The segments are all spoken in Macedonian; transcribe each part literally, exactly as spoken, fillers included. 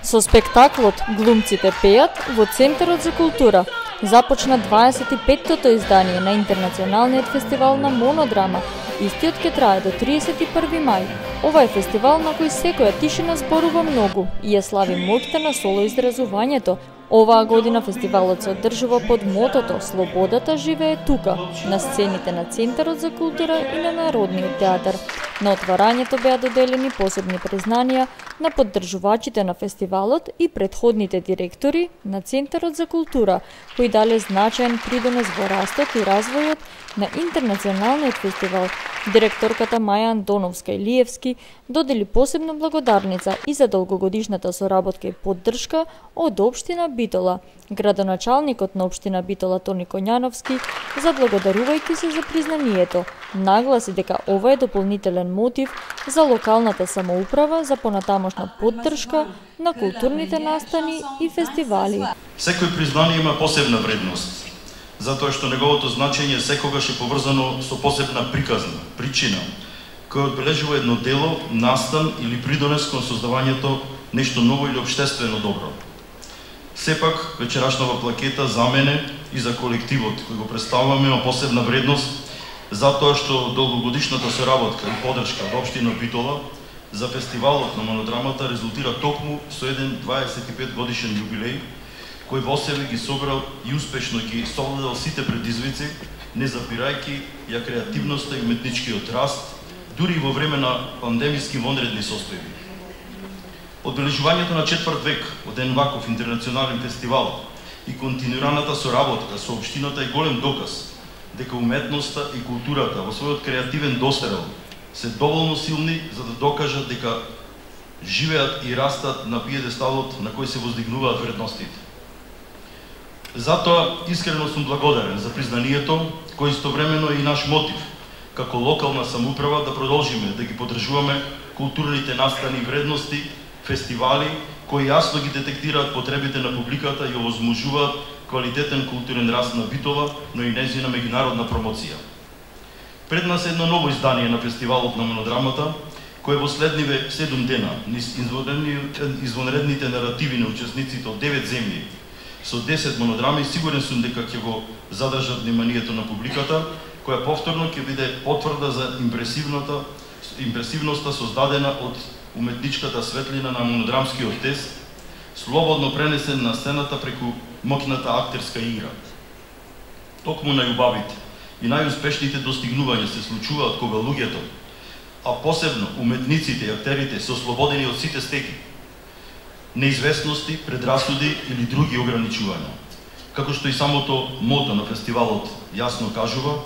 Со спектаклот "Глумците пеат" во Центарот за култура започна дваесет и петтото издание на Интернационалниот фестивал на монодрама. Истиот ќе трае до триесет и први мај. Ова е фестивал на кој секоја тишина зборува многу и ја слави моќта на солоизразувањето. Оваа година фестивалот се одржува под мотото "Слободата живее тука", на сцените на Центарот за култура и на Народниот театар. На отварањето беа доделени посебни признанија на поддржувачите на фестивалот и претходните директори на Центарот за култура, кои дале значаен придонес во растот и развојот на Интернационалниот фестивал. Директорката Маја Антоновска-Илиевски додели посебна благодарница и за долгогодишната соработка и поддршка од општина Битола. Градоначалникот на општина Битола Тони Коњановски, заблагодарувајќи се за признанието, нагласи дека ова е дополнителен мотив за локалната самоуправа за понатамошна поддршка на културните настани и фестивали. Секој признание има посебна вредност, затоа што неговото значење секогаш е поврзано со посебна приказна, причина, која одбележува едно дело, настан или придонес кон создавањето нешто ново или општествено добро. Сепак, вечерашнава плакета за мене и за колективот кој го представуваме има посебна вредност, затоа што долгогодишната соработка и поддршка од општина Битола за фестивалот на монодрамата резултира токму со еден дваесет и пет годишен јубилеј, кој во себе ги собрал и успешно ги совладал сите предизвици, не запирајќи ја креативноста и уметничкиот раст, дури и во време на пандемиски вонредни состојби. Одбележувањето на четврт век од еден ваков интернационален фестивал и континуираната соработка со општината е голем доказ дека уметноста и културата во својот креативен дострел се доволно силни за да докажат дека живеат и растат на пиедесталот на кој се воздигнуваат вредностите. Затоа искрено сум благодарен за признанието, кој истовремено е и наш мотив како локална самоуправа да продолжиме да ги поддржуваме културните настани и вредности, фестивали кои јасно ги детектираат потребите на публиката и овозможуваат квалитетен културен раст на Битола, но и нејзина меѓународна промоција. Пред нас е едно ново издание на фестивалот на монодрамата, кој во следниве седум дена низ извонредните наративи на учесниците од девет земји со десет монодрами, сигурен сум дека ќе го задржат вниманието на публиката, која повторно ќе биде потврда за импресивната импресивноста создадена од уметничката светлина на монодрамскиот тест, слободно пренесен на сцената преку моќната актерска игра. Токму најубавите и најуспешните достигнувања се случуваат кога луѓето, а посебно уметниците и актерите се ослободени од сите стеки, неизвестности, предрасуди или други ограничувања. Како што и самото мото на фестивалот јасно кажува,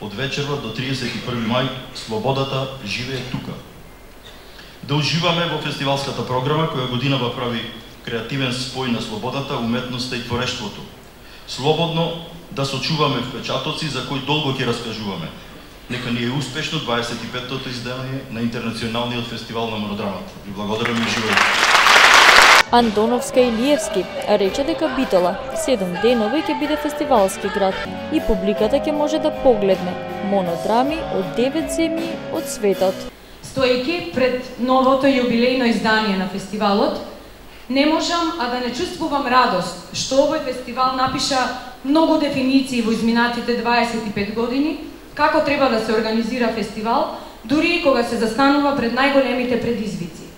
од вечерва до триесет и први мај слободата живее тука. Да уживаме во фестивалската програма која годинава прави креативен спој на слободата, уметноста и творештвото. Слободно да сочуваме впечатоци за кои долго ќе раскажуваме. Нека ни е успешно дваесет и петтото издание на Интернационалниот фестивал на монодрамата. Ви благодарам и живеете. Антоновска-Илиевски рече дека Битола седум денови ќе биде фестивалски град и публиката ќе може да погледне монодрами од девет земји од светот. Стоејќи пред новото јубилејно издание на фестивалот, не можам а да не чувствувам радост што овој фестивал напиша многу дефиниции во изминатите дваесет и пет години како треба да се организира фестивал, дури и кога се застанува пред најголемите предизвици.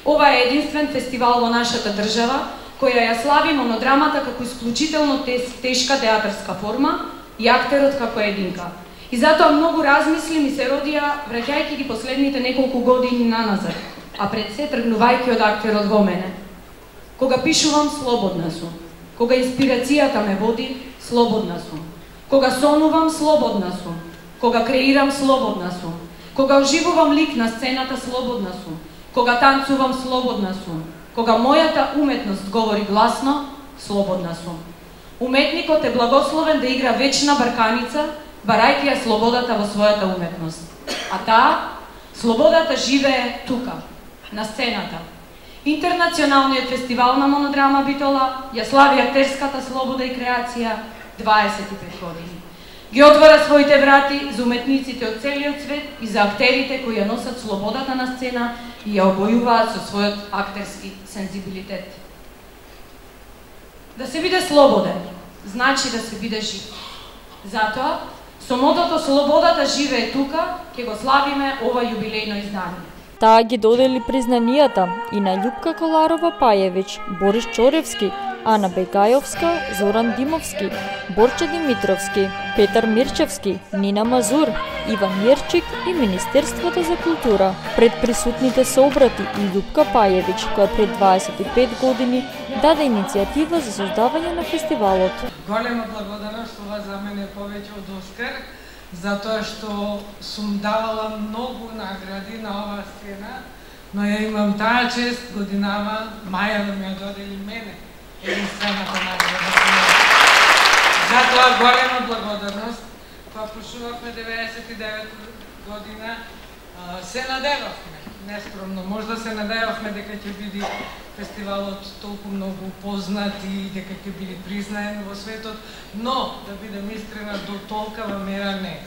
Ова е единствен фестивал во нашата држава која ја слави монодрамата како исклучително тешка театарска форма и актерот како единка. И затоа многу размисли ми се родија враќајќи ги последните неколку години наназад, а пред се тргнувајќи од актерот во мене. Кога пишувам, слободна сум. Кога инспирацијата ме води, слободна сум. Кога сонувам, слободна сум. Кога креирам, слободна сум. Кога оживувам лик на сцената, слободна сум. Кога танцувам, слободна сум. Кога мојата уметност говори гласно, слободна сум. Уметникот е благословен да игра вечна барканица, барајќи ја слободата во својата уметност. А таа, слободата живее тука, на сцената. Интернационалниот фестивал на монодрама Битола ја слави актерската слобода и креација дваесет и пет години. Ги отвора своите врати за уметниците од целиот свет и за актерите кои ја носат слободата на сцена и ја обојуваат со својот актерски сензибилитет. Да се биде слободен, значи да се биде жив. Затоа, со мотото "Слободата живее тука", ќе го славиме ова јубилејно издание. Таа ги додели признанијата и на Љупка Коларова-Пајевич, Борис Чоревски, Ана Бегајовска, Зоран Димовски, Борче Димитровски, Петар Мирчевски, Нина Мазур, Иван Јерчик и Министерството за култура. Пред присутните се обрати и Љупка Пајевич, која пред дваесет и пет години даде иницијатива за создавање на фестивалот. Голема благодарност, ова за мене е повеќе од Оскар, затоа што сум давала многу награди на оваа сцена, но ја имам таа чест годинава Маја да ми ја додели мене единствената награда. Затоа голема благодарност, кога почнувавме деветдесет и девета година, се надевавме, нескромно, можда се надевавме дека ќе биде фестивалот толку многу познат и дека ќе биде признаен во светот, но, да бидем искрена, до толкава мера не.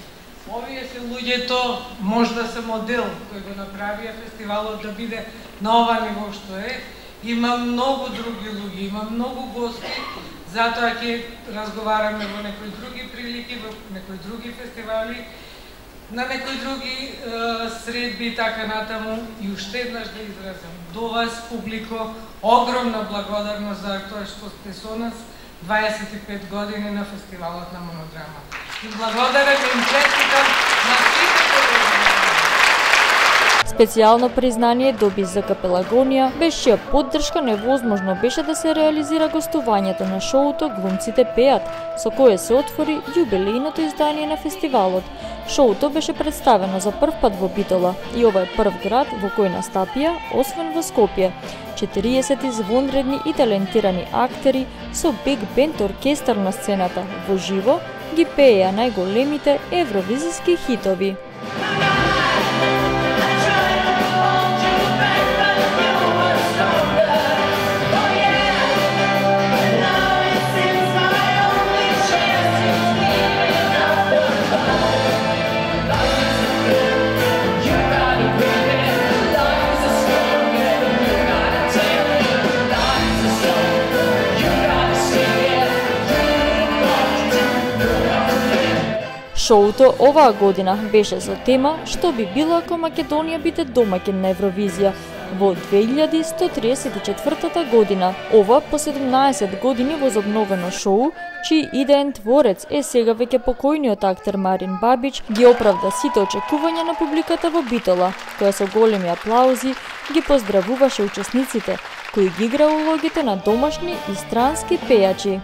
Овие се луѓето, можда се модел кој го направија фестивалот да биде на ова ниво што е. Има многу други луѓе, има многу гости, затоа ќе разговараме во некои други прилики, во некои други фестивали, на некои други е, средби и така натаму. И уште еднаш да изразам до вас, публико, огромна благодарност за тоа што сте со нас дваесет и пет години на фестивалот на Монодрама. И благодарам и им честитам на сите колеги. Специјално признание доби ЗК Пелагонија, без чија поддршка невозможно беше да се реализира гостувањето на шоуто "Глумците пеат", со кое се отвори јубилејното издание на фестивалот. Шоуто беше представено за прв пат во Битола и ова е прв град во кој настапија, освен во Скопје, четириесет извонредни и талентирани актери со биг бенд оркестар на сцената, во живо ги пееа најголемите евровизиски хитови. Шоуто оваа година беше со тема "Што би било ако Македонија биде домаќин на Евровизија" во две илјади сто триесет и четвртата година. Ова по седумнаесет години возобновено шоу, чиј идеен творец е сега веќе покојниот актер Марин Бабич, ги оправда сите очекувања на публиката во Битола, која со големи аплаузи ги поздравуваше учесниците, кои ги игра улогите на домашни и странски пејачи.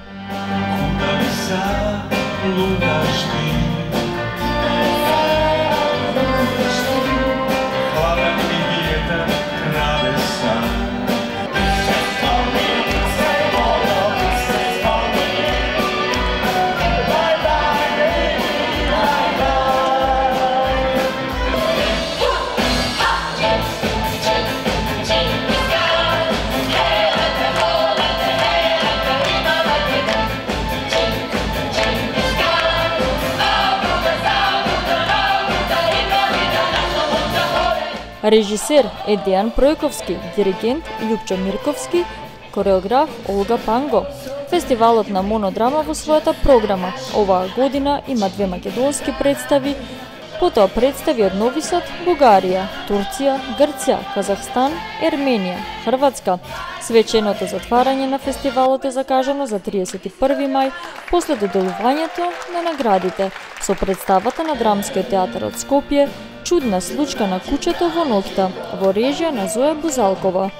Режисер е Дејан Пројковски, диригент Љупчо Мирковски, кореограф Олга Панго. Фестивалот на Монодрама во својата програма оваа година има две македонски представи, потоа представи од Нови Сад, Бугарија, Турција, Грција, Казахстан, Ерменија, Хрватска. Свеченото затварање на фестивалот е закажано за триесет и први мај, после доделувањето на наградите, со представата на Драмскиот театар од Скопје "Чудна случка на кучето во ноќта" во режија на Зоја Бузалкова.